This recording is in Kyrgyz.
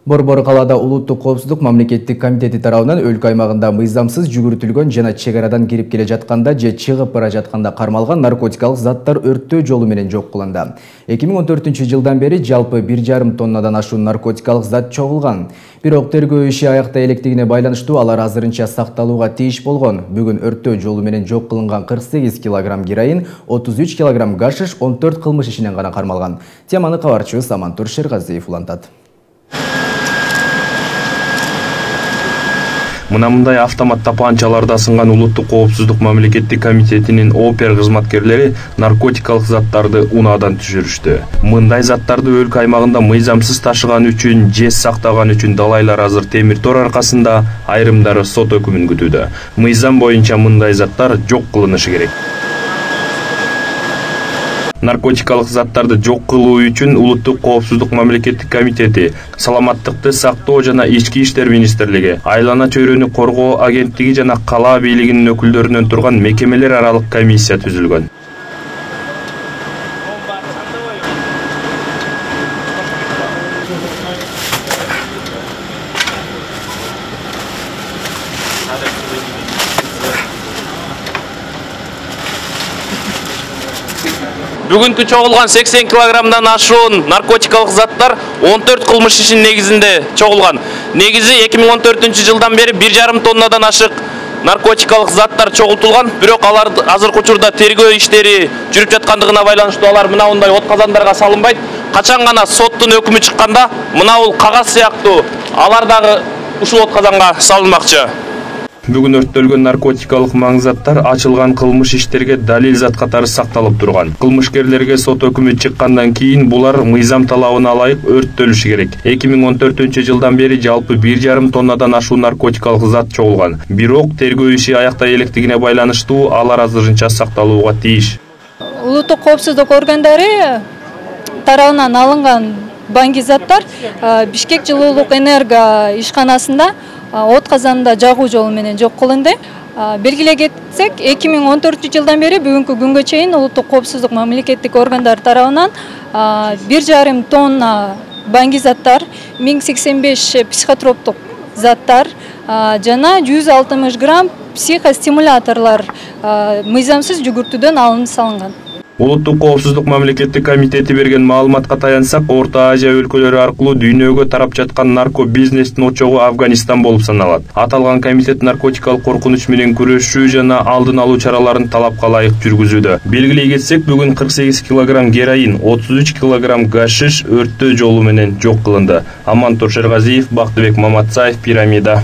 Борбор калаада улуттук коопсуздук мамлекеттик комитети тарабынан өлкө аймагында мыйзамсыз жүгүртүлгөн жана чек арадан кирип келе жатканда же чыгып бара жатканда кармалган наркотикалык заттар өрттөө жолу менен жок кылынды. 2014-жылдан бери жалпы 1,5 тоннадан ашуун наркотикалык зат чогулган. Бирок тергөө иши аякта электигине байланыштуу алар азырынча сакталууга тийиш болгон. Бүгүн өрттөө жолу менен жок кылынган 48 кг героин, 33 кг гашиш 14 кылмыш ишинен гана кармалган. Теманы кабарчыбыз Амантур Шергазиев улантат. Мындай автомат тапанчаларда сынган улуттук коопсуздук мамлекеттик комитетинин опер кызматкерлери наркотикалык заттарды унаадан түшүрүштү. Мындай заттарды өлкө аймагында мыйзамсыз ташыган үчүн же сактаган үчүн далайлар азыр темир тор аркасында, айрымдары сот өкүмүн күтүүдө. Мыйзам боюнча мындай заттар жок кылынышы керек. Наркотикалык заттарды жок кылуу үчүн улуттук коопсуздук мамлекеттик комитети, саламаттыкты сактоо жана ички иштер министрлиги, айлана чөйрөнү коргоо агенттиги жана кала бийлигинин өкүлдөрүнөн турган мекемелер аралык комиссия түзүлгөн. Бүгүнкү чогулган 80 килограммдан ашуун наркотикалык заттар 14 кылмыш ишинин негизинде чогулган. Негизи 2014-жылдан бери 1,5 тоннадан ашык наркотикалык заттар чогултулган, бирок алар азыркы учурда тергөө иштери жүрүп жаткандыгына байланыштуу алар мындай от казандарга салынбайт. Качан гана соттун өкүмү чыкканда мынау кагаз сыяктуу алар дагы ушул от казанга салынмакчы. Бүгүн өрттөлгөн наркотикалык маңзаттар ачылган кылмыш иштерге далил зат катары сакталып турган. Кылмышкерлерге сот өкүмү чыккандан кийин булар мыйзам талабына ылайык өрттөлүшү керек. 2014-жылдан бери жалпы 1,5 тоннадан ашуун наркотикалык зат чогулган. Бирок тергөө иши аякта электигине байланыштуу алар азырынча сакталууга тийиш. Улуттук коопсуздук органдары тарабынан алынган баңги заттар Бишкек жылуулук энерго ишканасында от казанында жагуу жолу менен жок кылынды. Белгилей кетсек, 2014-жылдан бери бүгүнкү күнгө чейин улуттук коопсуздук мамлекеттик органдар тарабынан 1,5 тонна баңги заттар, 1085 психотроптук заттар жана 160 грамм психостимуляторлор мыйзамсыз жүгүртүүдөн алынып салынган. Улуттук коопсуздук мамлекеттик комитети берген маалыматка таянсак, Орто Азия өлкөлөрү аркылуу дүйнөгө тарап жаткан нарко бизнестин очогу Афганистан болуп саналат. Аталган комитет наркотикалык коркунуч менен күрөшүү жана алдын алуу чараларын талапка ылайык жүргүзүүдө. Белгилей кетсек, бүгүн 48 кг героин, 33 кг гашиш өрттөө жолу менен жок кылынды. Амантур Шергазиев, Бактыбек Маматсаев, Пирамида.